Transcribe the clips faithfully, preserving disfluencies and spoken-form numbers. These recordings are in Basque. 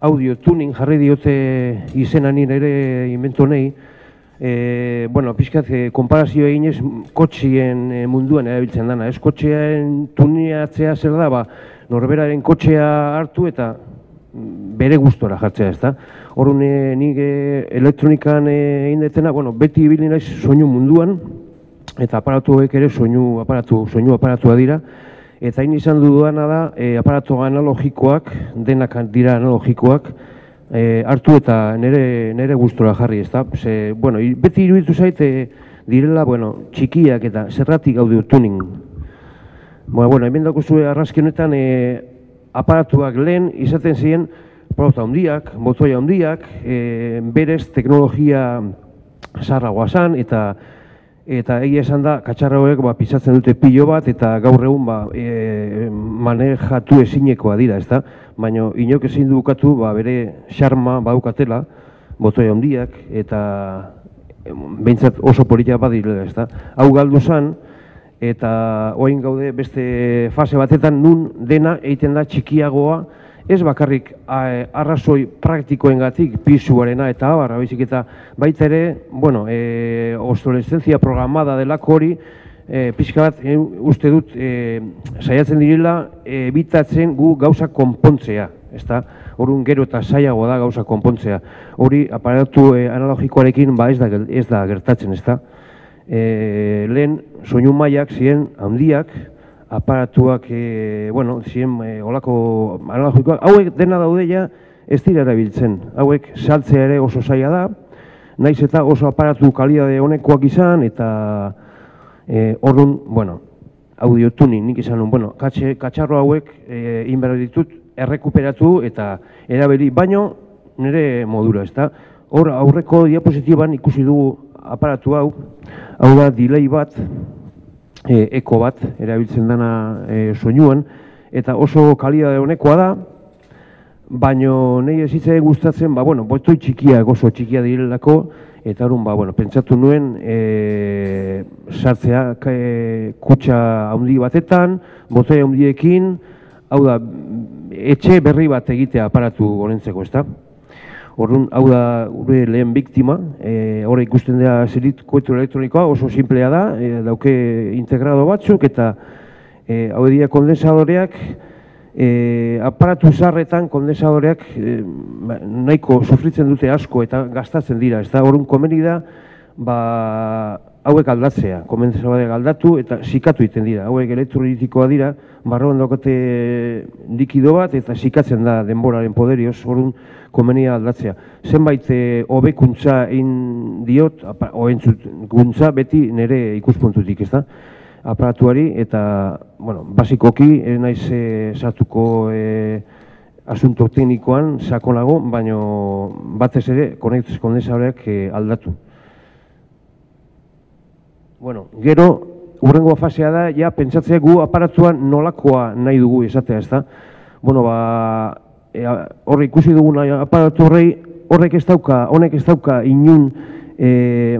audio tuning jarri diote izena nire ere inventu nahi. E, bueno, pixkat, e, konparazio eginez kotxien e, munduan erabiltzen dana. Ez kotxearen tuneatzea zer da, ba, norberaren kotxea hartu eta bere gustora jartzea, ez da. Horren e, nik e, elektronikan egin detena, bueno, beti ibili naiz soinu munduan, eta aparatuek ere soinu aparatu, soinu aparatua dira. Eta hain izan dudana da, e, aparatu analogikoak, denak dira analogikoak, e, hartu eta nire, nire gustora jarri, ez da. Ze, bueno, beti iruditu zait, e, direla, bueno, txikiak eta zerratik audio tuning. Bueno, bueno, hemen dako zuen arrazki honetan, e, aparatuak lehen izaten ziren, aparatu handiak, botoia handiak, e, berez teknologia zaharragoa zan, eta Eta egia esan da, katxarra horiek ba, pisatzen dute pilo bat, eta gaur egun ba, e, manejatu ezinekoa dira, ez da? Baina inok ezin dukatu ba, bere xarma badukatela, botoi handiak, eta behintzat oso politia badirela, ez da? Hau galdu zen, eta orain gaude beste fase batetan nun dena egiten da txikiagoa, ez bakarrik arrazoi praktikoengatik pisuarena eta abarra, baizik eta baita ere, bueno, e, obsolescentzia programada delako hori, e, pixka bat, e, uste dut, e, saiatzen direla, ebitatzen gu gauza konpontzea, ezta? Horun gero eta zailago da gauza konpontzea. Hori, aparatu e, analogikoarekin, ba ez da, ez da gertatzen, ezta? E, lehen, soinu mailak ziren handiak, aparatuak, e, bueno, ziren e, olako analogikoak, hauek dena daude ja ez dira erabiltzen. Hauek saltzea ere oso zaila da, naiz eta oso aparatu kalidade honekoak izan, eta e, orduan, bueno, audio tuning nik izan nun, bueno, katxe, katxarro hauek e, inberra ditut errekuperatu eta erabili, baino nire modura, ezta? Hor aurreko diapositiban ikusi dugu aparatu hau, hau da delay bat, E, eko bat, erabiltzen dana e, soinuan, eta oso kalidade honekoa da, baino nahi ez hitzai gustatzen, ba, bueno, botoi txikiak oso txikia direlako, eta horren, ba, bueno, pentsatu nuen, e, sartzea e, kutxa handi batetan, botoi handiekin, hau da, etxe berri bat egitea aparatu honentzeko, ezta? Orduan, hau da gure lehen biktima, e, hori ikusten da zerit koetu elektronikoa, oso simplea da, e, dauke integrado batzuk, eta e, hau dira kondensadoreak, e, aparatu zarretan kondensadoreak e, nahiko sufritzen dute asko eta gastatzen dira, ez da, orduan komeni da, ba, hauek aldatzea, kondensadoreak aldatu eta zikatu egiten dira, hauek elektronikoa dira, barroan daukate likido bat eta zikatzen da denboraren poderioz, orduan, komenia aldatzea. Zenbait hobekuntza egin diot, oentzuntza beti nire ikuspuntutik, ez da? Aparatuari eta, bueno, basikoki, ez naiz sartuko asunto teknikoan sakonago, baina batez ere kondensadoreak aldatu. Bueno, gero, hurrengo fasea da, ja, pentsatzea gu aparatuan nolakoa nahi dugu esatea, ez da? Bueno, ba, horre ikusi dugun aparatu horrei, horrek ez dauka, honek ez dauka inun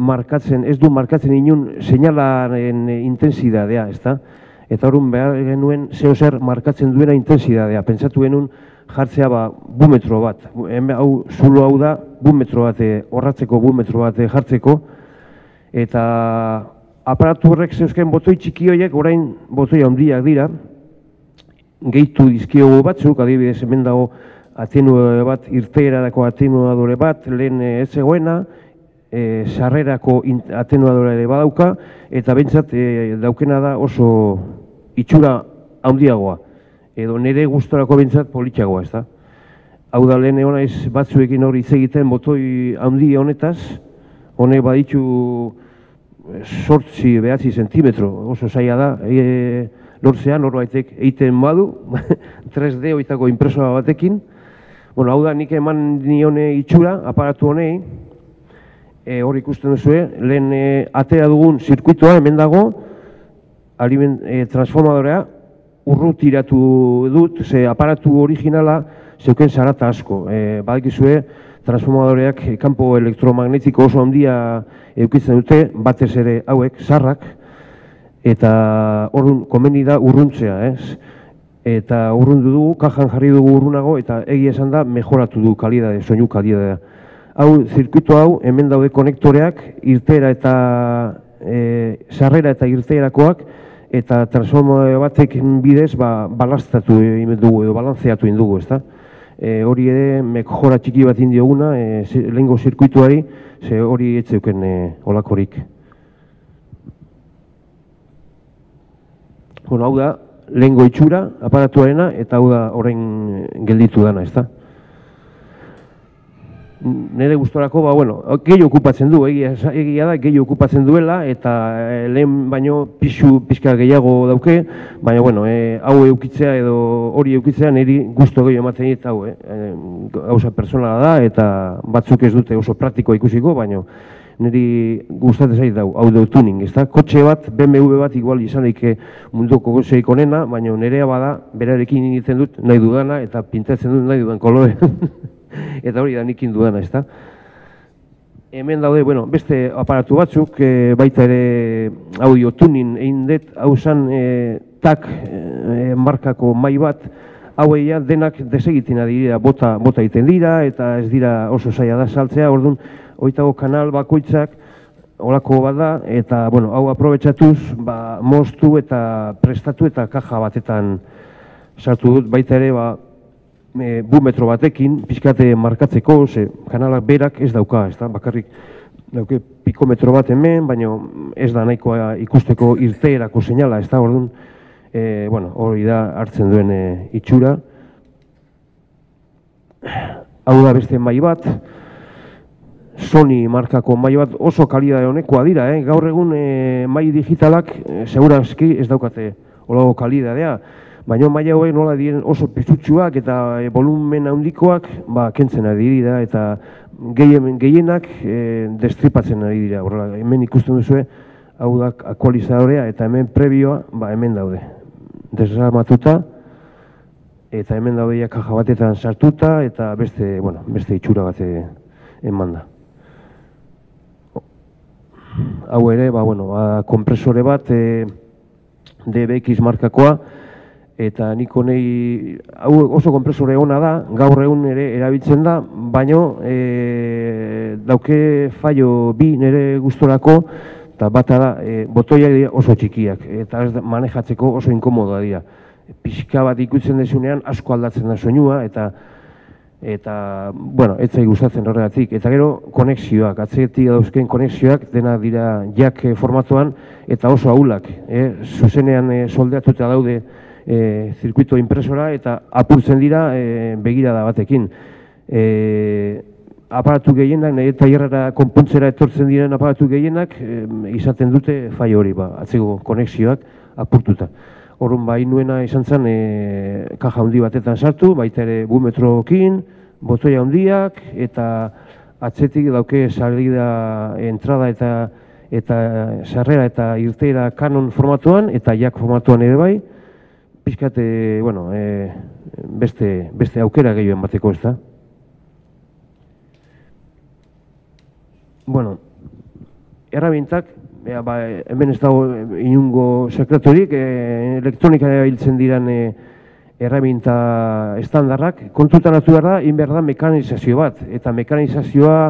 markatzen, ez du markatzen inun seinalaren intensidadea, ez da? Eta horren behar genuen zeo zer markatzen duena intensidadea. Pentsatu genuen jartzea ba bumetro bat. Hau, zulo hau da, bumetro bat, horratzeko bumetro bat jartzeko. Eta aparatu horrek zeuzken botoi txiki horiek, orain botoi handiak dira, gehitu dizkiogu batzuk, adibidez hemen dago atenuadore bat, irteerarako atenuadore bat, lehen ez zegoena, sarrerako atenuadore ere badauka, eta bentsat daukena da oso itxura handiagoa, edo nire gustorako bentsat politxagoa, ez da? Hau da lehen egon naiz batzuekin hori hitz egiten botoi handi honetaz, honek baditu sortzi behatzi zentimetro, oso zaila da, lortzean, norbaitek egiten badu, tres D oitako impresoa batekin. Bueno, hau da, nik eman nione itxura, aparatu honei, hor ikusten duzue, lehen atera dugun zirkuitoa, hemen dago, transformadorea, urrutiratu dut, ze aparatu originala zeuken zarata asko. Badakizue, transformadoreak kanpo elektromagnetiko oso handia eukitzen dute, batez ere hauek, zarrak, eta horren komeni da urruntzea, ez? eta urrundu dugu, kajan jarri dugu urrunago, eta egia esan da, mejoratu du kalidade, soinu kalidadea. Hau, zirkuito hau, hemen daude konektoreak, irteera eta e, sarrera eta irteerakoak, eta transformadore batek bidez, ba, balastatu egin dugu, edo balantzeatu egin dugu, ezta? E, hori ere, mejora txiki bat indioguna, e, lehengo zirkuituari, ze hori etzeuken e, olakorik. Bueno, hau da, lehengo itxura, aparatuarena, eta hau da orain gelditu dana, ezta? Nire gustorako, ba, bueno, gehi okupatzen du, egia, egia da, gehi okupatzen duela, eta e, lehen baino pixu, pixka gehiago dauke, baina, bueno, e, hau eukitzea edo hori eukitzea niri gusto gehi ematen dit, hau, eh, gauza personala da, eta batzuk ez dute oso praktiko ikusiko, baina niri gustatzen zait dau, audio tuning, ezta? Kotxe bat, B M W bat igual izan daike munduko gozeik onena, baina nirea bada, berarekin egiten dut nahi dudana, eta pintatzen dut nahi dudan kolore. Eta hori da nikin dudana, ezta? Hemen daude, bueno, beste aparatu batzuk, e, baita ere audio tuning egin dut, hau zan e, tak e, markako mai bat, hauei denak desegiten dira, bota, bota egiten dira, eta ez dira oso zaila da saltzea, orduan, hoitago kanal bakoitzak, holako bat da, eta, bueno, hau aprobetxatuz, ba, moztu eta prestatu eta kaja batetan sartu dut, baita ere, ba, E, bumetro batekin, pixkate markatzeko, ze kanalak berak ez dauka, ez da, bakarrik dauke pikometro bat hemen, baina ez da nahikoa ikusteko irteerako seinala, ez da, orduan, e, bueno, hori da hartzen duen e, itxura. Hau da beste mai bat, Sony markako mai bat oso kalidade honekoa dira, eh? Gaur egun e, mai digitalak e, segurazki ez daukate holago kalidadea. Baina maila hauek nola diren oso pisutsuak eta e, volumen handikoak ba, kentzen ari dira eta gehienak e, destripatzen ari dira. Horrela, hemen ikusten duzue, hau da aktualizadorea eta hemen prebioa ba, hemen daude. Desarmatuta eta hemen daude ja kaja batetan sartuta eta beste, bueno, beste itxura bat eman da. Hau ere, ba, bueno, ba, kompresore bat e, D B X markakoa, eta nik honei, hau oso kompresore ona da, gaur egun ere erabiltzen da, baino e, dauke fallo bi nire gustorako, eta bata da, e, botoiak dira oso txikiak, eta ez manejatzeko oso inkomodoa dira. Pixka bat ikutzen desunean asko aldatzen da soinua, eta eta, bueno, ez zai gustatzen horregatik. Eta gero, konexioak, atzetik dauzken konexioak, dena dira jack formatuan, eta oso ahulak, eh? Zuzenean e, soldeatuta daude E, zirkuito impresora eta apurtzen dira e, begirada batekin. E, aparatu gehienak, nahi eta hierrara konpontzera etortzen diren aparatu gehienak e, izaten dute faio hori, ba, atzeko konexioak apurtuta. Horren ba, inuena izan zen e, kaja handi batetan sartu, baita ere bumetrokin, botoia handiak eta atzetik dauke salida, entrada eta eta sarrera eta irteera Canon formatuan eta jack formatuan ere bai. Pizkate, bueno, e, beste, beste aukera gehioen bateko, ez da? Bueno, errabientak, e, ba, hemen ez dago inungo sekretorik, e, elektronika erabiltzen diran e, errabienta estandarrak, kontutan hartu behar da, inber da mekanizazio bat, eta mekanizazioa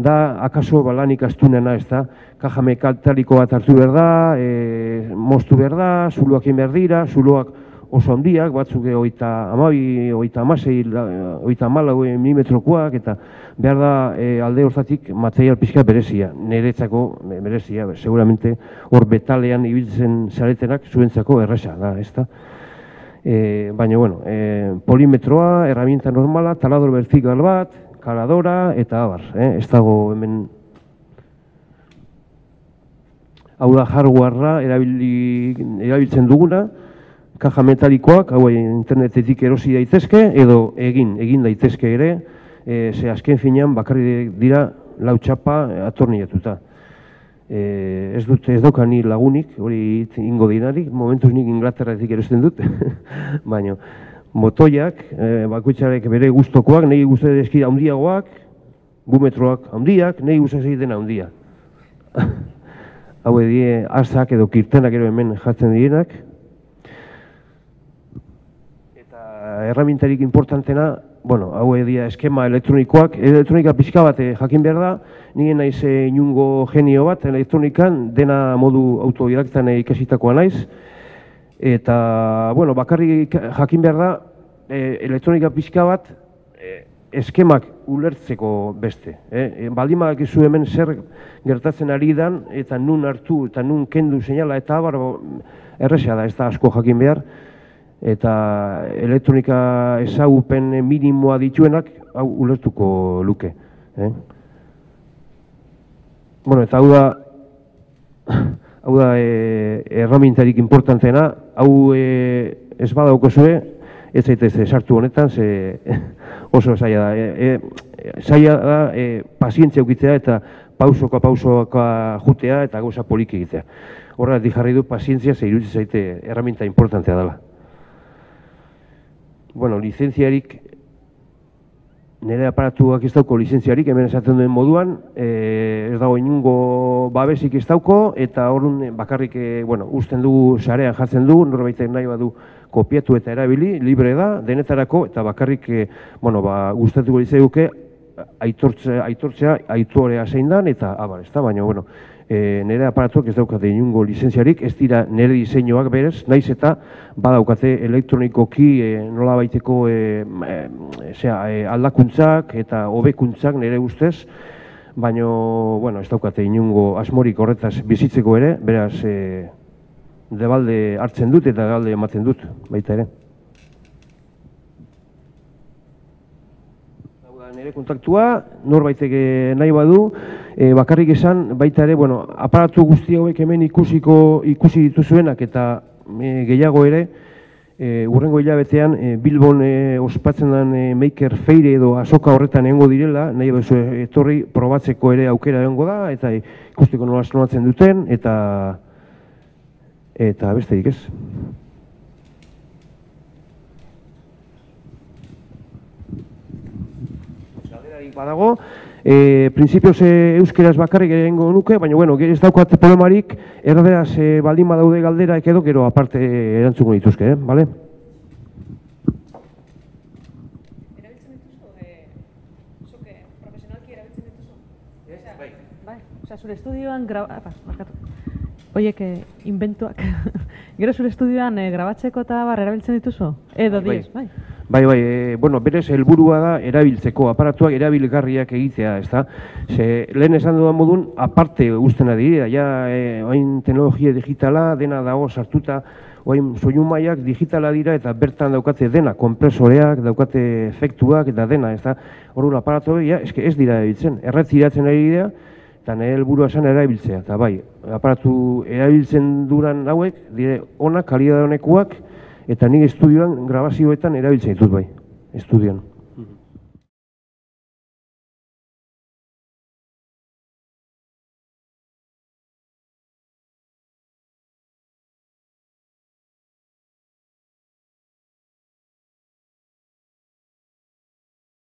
da akaso balanik astunena, ez da? Kaja mekatariko bat hartu behar da, e, moztu behar da, zuluak inber dira, zuluak oso handiak, batzuk oita amabi, oita amasei, oita amalau milimetrokoak, eta behar da e, alde hortatik material pixka berezia, niretzako berezia, seguramente hor betalean ibiltzen zaretenak zuentzako erresa da, ez da? E, baina, bueno, e, polimetroa, herramienta normala, talador vertikal bat, kaladora, eta abar, eh? Ez dago hemen... Hau da hardwarea erabiltzen duguna, kaja metalikoak, hau internetetik erosi daitezke, edo egin, egin daitezke ere, e, ze azken finean bakarri dira lau txapa atorniatuta. E, ez dut, ez dauka ni lagunik, hori ingo dinarik, momentuz nik Inglaterratik erosten dut, baina motoiak, e, bakoitzarek bere gustokoak, nahi guztetan eskira handiagoak, bumetroak handiak, nahi guztetan dena handia. Hau edie, asak edo kirtenak ero hemen jartzen direnak. erramintarik importantena, bueno, hau edia eskema elektronikoak, elektronika pixka bat jakin behar da, nire naiz inungo genio bat elektronikan, dena modu autodidaktan ikasitakoa naiz, eta, bueno, bakarrik jakin behar da, elektronika pixka bat, eskemak ulertzeko beste. Baldin badakizu hemen zer gertatzen ari dan, eta nun hartu, eta nun kendu seinala, eta abar, erresa da, ez da asko jakin behar, eta elektronika ezagupen minimoa dituenak, hau ulertuko luke. Bueno, eta hau da, hau da erramintarik importanteena, hau ez badaukazue, ez zaitez sartu honetan, oso zaila da. Zaila da, pazientzia ukitzea eta pausoka pausoka jutea eta gauza poliki egitea. Horregatik jarri du pazientzia, ze iruditzen zaite erraminta importantea dela. Bueno, lizentziarik, nire aparatuak ez dauko lizentziarik, hemen esaten duen moduan, ez dago inungo babesik ez dauko, eta horren bakarrik, bueno, usten dugu sarean jartzen du, norbaitek nahi badu kopiatu eta erabili, libre da, denetarako, eta bakarrik, bueno, ba, gustatuko litzaiduke, aitortzea, aitorea zein dan, eta abar, ez da, baina, bueno, nire aparatuak ez daukate inungo lizentziarik, ez dira nire diseinuak berez, naiz eta badaukate elektronikoki nola baiteko aldakuntzak eta hobekuntzak nire ustez, baina, bueno, ez daukate inungo asmorik horretaz bizitzeko ere, beraz, debalde hartzen dut eta debalde ematen dut, baita ere. Nire kontaktua, norbaitek nahi badu, bakarrik esan, baita ere, bueno, aparatu guzti hauek hemen ikusiko ikusi dituzuenak eta gehiago ere, hurrengo hilabetean Bilbon ospatzen den Maker Faire edo azoka horretan egongo direla, nahi bezu etorri probatzeko ere aukera egongo da, eta ikusteko nola sonatzen duten, eta eta besterik ez. Badago, prinsipioz euskeraz bakarrik erengo nuke, baina, bueno, ez daukat problemarik, erderaz baldin badaude galderak edo, gero aparte erantzuko dituzke, bale? Erabiltzen dituzu? Zuke, profesionalki erabiltzen dituzu? Bai. Bai, osea, zure estudioan oiek inventuak, gero zure estudioan grabatzeko eta bar erabiltzen dituzu? Edo diez, bai? Bai, bai, bueno, berez helburua da erabiltzeko, aparatuak erabilgarriak egitea, ez da? Ze, lehen esan dudan modun, aparte guztena dira, ja, oain teknologia digitala, dena dago sartuta, oain soinu mailak digitala dira, eta bertan daukate dena, kompresoreak, daukate efektuak, eta dena, ez da? Horren aparatu, ja, eske ez dira erabiltzen, erretziratzen ari dira, eta nire helburua esan erabiltzea, eta bai, aparatu erabiltzen duran hauek, dire, onak, kalidade honekuak, eta nik estudioan grabazioetan erabiltzen ditut bai, estudioan.